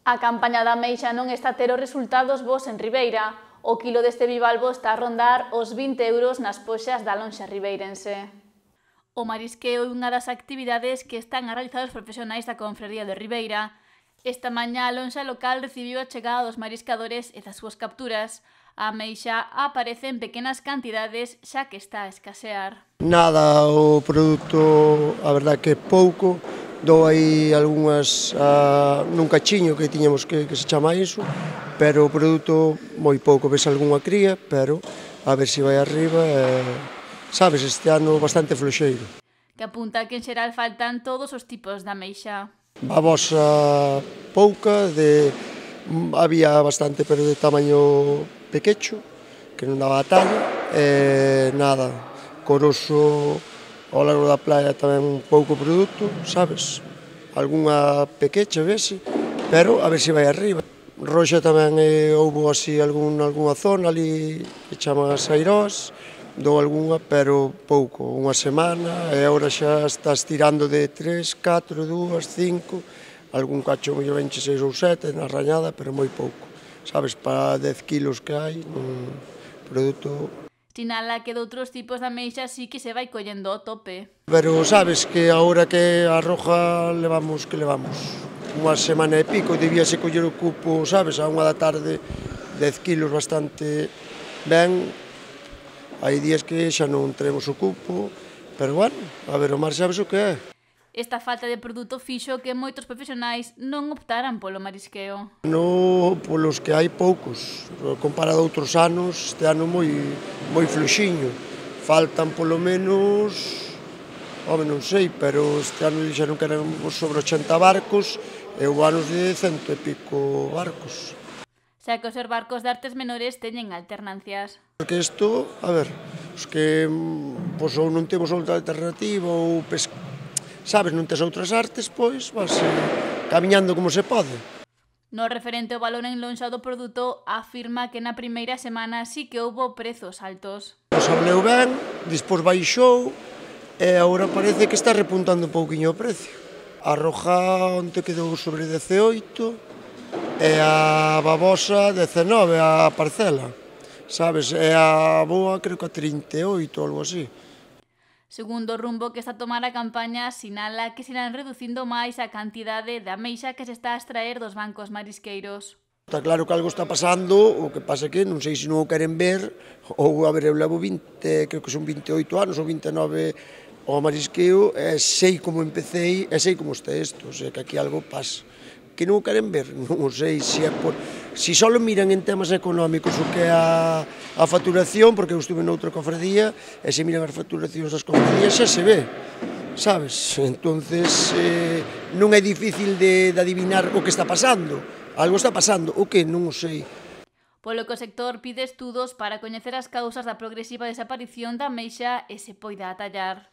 A campaña da ameixa non está a ter os resultados bos en Ribeira. O quilo deste bivalvo está a rondar os 20 euros nas poxas da lonxa ribeirense. O marisqueo é unha das actividades que están a realizar os profesionais da Confraría de Ribeira. Esta mañá a lonxa local recibiu a chegada dos mariscadores e das súas capturas. A ameixa aparece en pequenas cantidades xa que está a escasear. Nada, o produto, a verdad que pouco. Dou aí algunhas nun cachiño que tiñamos que se chama iso, pero o produto moi pouco, ves algunha cría, pero a ver se vai arriba, sabes, este ano bastante floxeiro. Que apunta que en xeral faltan todos os tipos de ameixa. Babosa pouca, había bastante, pero de tamaño pequecho, que non daba a talla, nada, coroso ao largo da playa tamén pouco produto, sabes? Algunha pequecha, vese, pero a ver se vai arriba. Roxa tamén houbo así algunha zona ali que chaman as Airós, dou algunha, pero pouco, unha semana, e agora xa estás tirando de 3, 4, 2, 5, algún cacho mellor venche 6 ou 7 na rañada, pero moi pouco. Sabes, para 10 kilos que hai, un produto... Sinala que de outros tipos de ameixa sí que se vai collendo ao tope. Pero sabes que agora que a roja levamos unha semana e pico, debíase coller o cupo, sabes, a 1 da tarde, 10 kilos bastante ben. Hai días que xa non teremos o cupo, pero bueno, a ver, o mar sabes o que é. Esta falta de produto fixo que moitos profesionais non optaran polo marisqueo. Polos que hai poucos, comparado a outros anos, este ano moi fluxiño. Faltan polo menos, non sei, pero este ano dixeron que eran sobre 80 barcos e houve anos de 100 e pico barcos. Xa que os barcos de artes menores teñen alternancias. Porque isto, a ver, os que ou non temos outra alternativa ou sabes, non tes outras artes, pois vas camiñando como se pode. No referente ao valor en lonxa do produto, afirma que na primeira semana sí que houbo prezos altos. Nos hableu ben, despois baixou e agora parece que está repuntando un pouquiño o precio. A roja onte quedou sobre 18 e a babosa 19 a parcela, sabes, e a boa creo que a 38 ou algo así. Segundo o rumbo que está a tomar a campaña, sinala que se irán reducindo máis a cantidade de ameixa que se está a extraer dos bancos marisqueiros. Está claro que algo está pasando, o que pasa que non sei se non o queren ver, ou a ver, eu levo 20, creo que son 28 anos ou 29 ao marisqueo, e sei como empecéi, e sei como está isto, o sea, que aquí algo pasa. Que non o queren ver, non o sei, se é por... Si só miran en temas económicos o que é a facturación, porque eu estuve noutra cofradía, e se miran as facturacións das cofradías xa se ve, sabes? Entonces, non é difícil de adivinar o que está pasando. Algo está pasando, o que non o sei. Polo que o sector pide estudos para coñecer as causas da progresiva desaparición da ameixa e se poida atallar.